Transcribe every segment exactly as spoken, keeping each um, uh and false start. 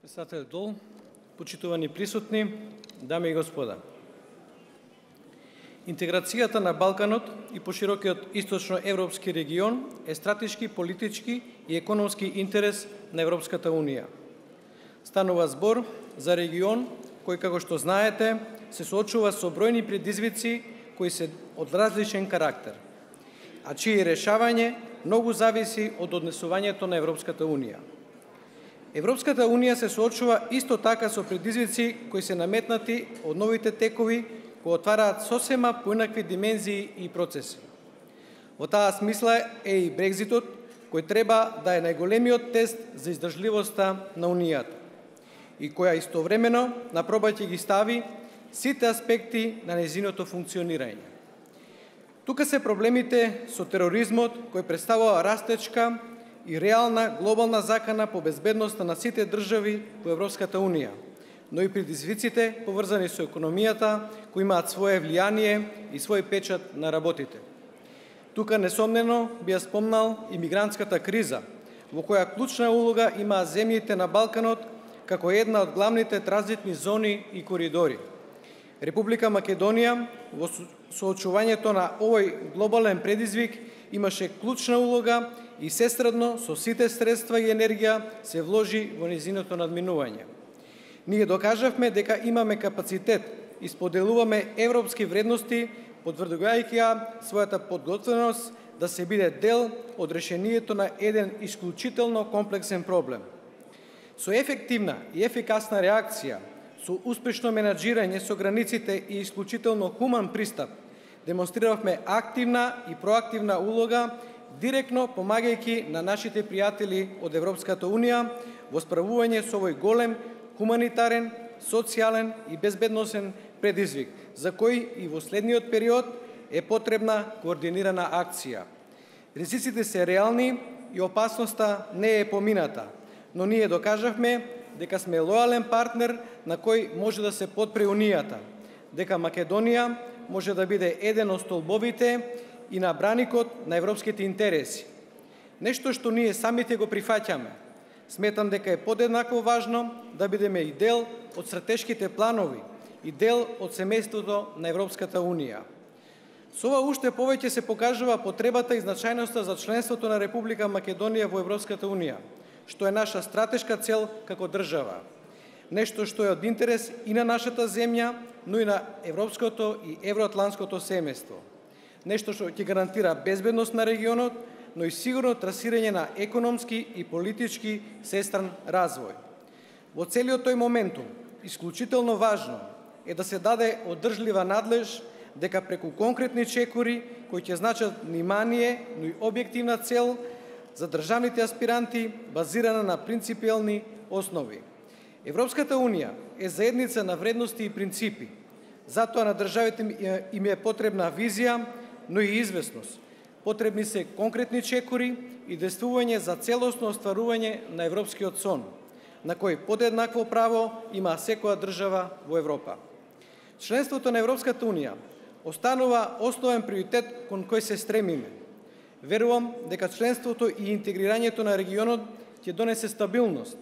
Председател Дол, почитувани присутни, дами и господа. Интеграцијата на Балканот и поширокиот источноевропски регион е стратешки, политички и економски интерес на Европската Унија. Станува збор за регион кој, како што знаете, се соочува со бројни предизвици кои се од различен карактер, а чие решавање многу зависи од однесувањето на Европската Унија. Европската Унија се соочува исто така со предизвици кои се наметнати од новите текови кои отвараат сосема поинакви димензии и процеси. Во таа смисла е и Брекзитот, кој треба да е најголемиот тест за издржливоста на Унијата и која истовремено на проба ќе ги стави сите аспекти на нејзиното функционирање. Тука се проблемите со тероризмот, кој представува растечка и реална глобална закана по безбедноста на сите држави во Европската Унија, но и предизвиците поврзани со економијата, кои имаат свое влијание и свој печат на работите. Тука несомнено би ја спомнал и мигрантската криза, во која клучна улога имаа земјите на Балканот како една од главните транзитни зони и коридори. Република Македонија во соочувањето на овој глобален предизвик имаше клучна улога и сесредно со сите средства и енергија се вложи во нејзиното надминување. Ние докажавме дека имаме капацитет и споделуваме европски вредности, потврдувајќи ја својата подготвеност да се биде дел од решението на еден исклучително комплексен проблем. Со ефективна и ефикасна реакција, со успешно менаџирање со границите и исклучително хуман пристап, демонстриравме активна и проактивна улога, директно помагајќи на нашите пријатели од Европската Унија во справување со овој голем хуманитарен, социјален и безбедносен предизвик, за кој и во следниот период е потребна координирана акција. Ризиците се реални и опасноста не е помината, но ние докажавме дека сме лојален партнер на кој може да се подпре Унијата, дека Македонија може да биде еден од столбовите и на браникот на европските интереси. Нешто што ние самите го прифаќаме. Сметам дека е подеднакво важно да бидеме и дел од стратешките планови и дел од семејството на Европската Унија. Со ова уште повеќе се покажува потребата и значајноста за членството на Република Македонија во Европската Унија, што е наша стратешка цел како држава. Нешто што е од интерес и на нашата земја, но и на европското и евроатлантското семејство. Нешто што ќе гарантира безбедност на регионот, но и сигурно трасирање на економски и политички сестран развој. Во целиот тој моментум, исклучително важно е да се даде одржлива надлеж дека преку конкретни чекори кои ќе значат внимание, но и објективна цел за државните аспиранти базирана на принципиелни основи. Европската Унија е заедница на вредности и принципи. Затоа на државите им е потребна визија, но и известност. Потребни се конкретни чекори и действување за целосно остварување на европскиот сон, на кој подеднакво право има секоја држава во Европа. Членството на Европската Унија останува основен приоритет кон кој се стремиме. Верувам дека членството и интегрирањето на регионот ќе донесе стабилност.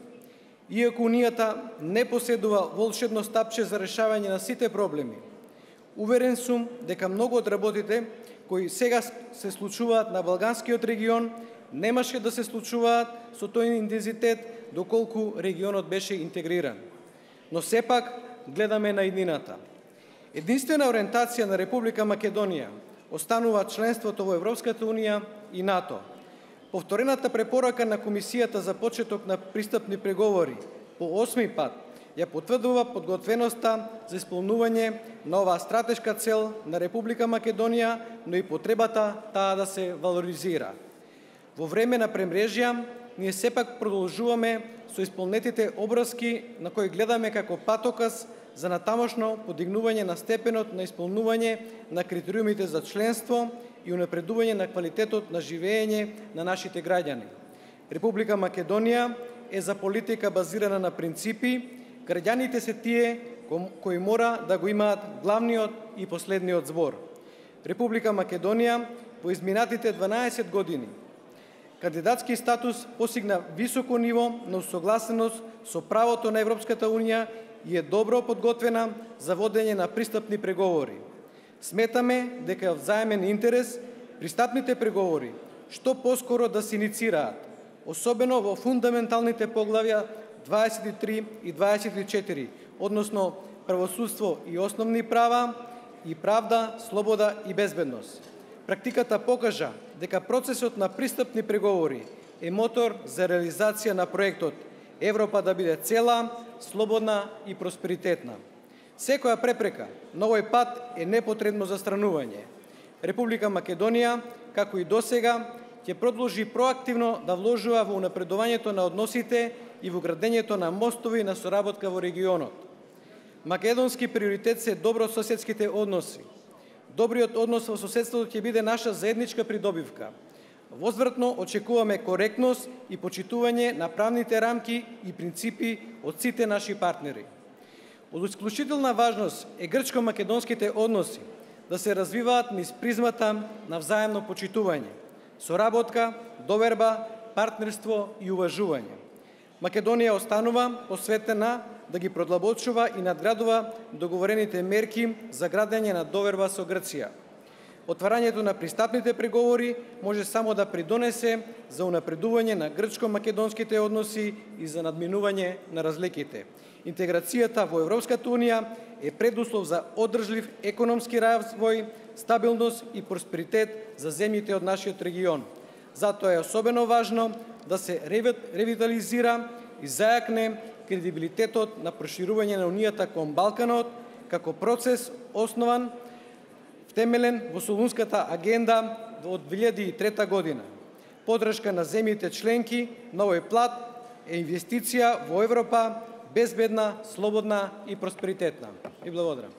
Иако Унијата не поседува волшебно стапче за решавање на сите проблеми, уверен сум дека многу од работите кои сега се случуваат на Балканскиот регион немаше да се случуваат со тој интензитет доколку регионот беше интегриран. Но сепак гледаме на иднината. Единствена ориентација на Република Македонија останува членството во Европската Унија и НАТО. Повторената препорака на Комисијата за почеток на пристапни преговори по осми пат ја потврдува подготвеноста за исполнување на оваа стратешка цел на Република Македонија, но и потребата таа да се валоризира. Во време на премрежја, ние сепак продолжуваме со исполнетите обврски на кои гледаме како патоказ за натамошно подигнување на степенот на исполнување на критериумите за членство и унапредување на квалитетот на живење на нашите граѓани. Република Македонија е за политика базирана на принципи. Граѓаните се тие кои мора да го имаат главниот и последниот збор. Република Македонија во изминатите дванаесет години кандидатски статус постигна високо ниво на усогласеност со правото на Европската Унија и е добро подготвена за водење на пристапни преговори. Сметаме дека е од взаемен интерес пристапните преговори што поскоро да се иницираат, особено во фундаменталните поглавја дваесет и три и дваесет и четири, односно правосудство и основни права и правда, слобода и безбедност. Практиката покажа дека процесот на пристапни преговори е мотор за реализација на проектот Европа да биде цела, слободна и просперитетна. Секоја препрека на овој пат е непотребно застранување. Република Македонија, како и досега, ќе продолжи проактивно да вложува во унапредувањето на односите и во градењето на мостови на соработка во регионот. Македонски приоритет се добрососедските односи. Добриот однос во соседството ќе биде наша заедничка придобивка. Возвратно очекуваме коректност и почитување на правните рамки и принципи од сите наши партнери. Од исклучителна важност е грчко-македонските односи да се развиваат низ призмата на взаемно почитување, соработка, доверба, партнерство и уважување. Македонија останува посветена да ги продлабочува и надградува договорените мерки за градење на доверба со Грција. Отварањето на пристапните преговори може само да придонесе за унапредување на грчко-македонските односи и за надминување на разликите. Интеграцијата во Европската Унија е предуслов за одржлив економски развој, стабилност и просперитет за земјите од нашиот регион. Затоа е особено важно да се ревитализира и зајакне кредибилитетот на проширување на Унијата кон Балканот како процес основан втемелен во Солунската агенда од две илјади и трета година. Подршка на земјите членки на овој плат е инвестиција во Европа безбедна, слободна и просперитетна. И благодарам.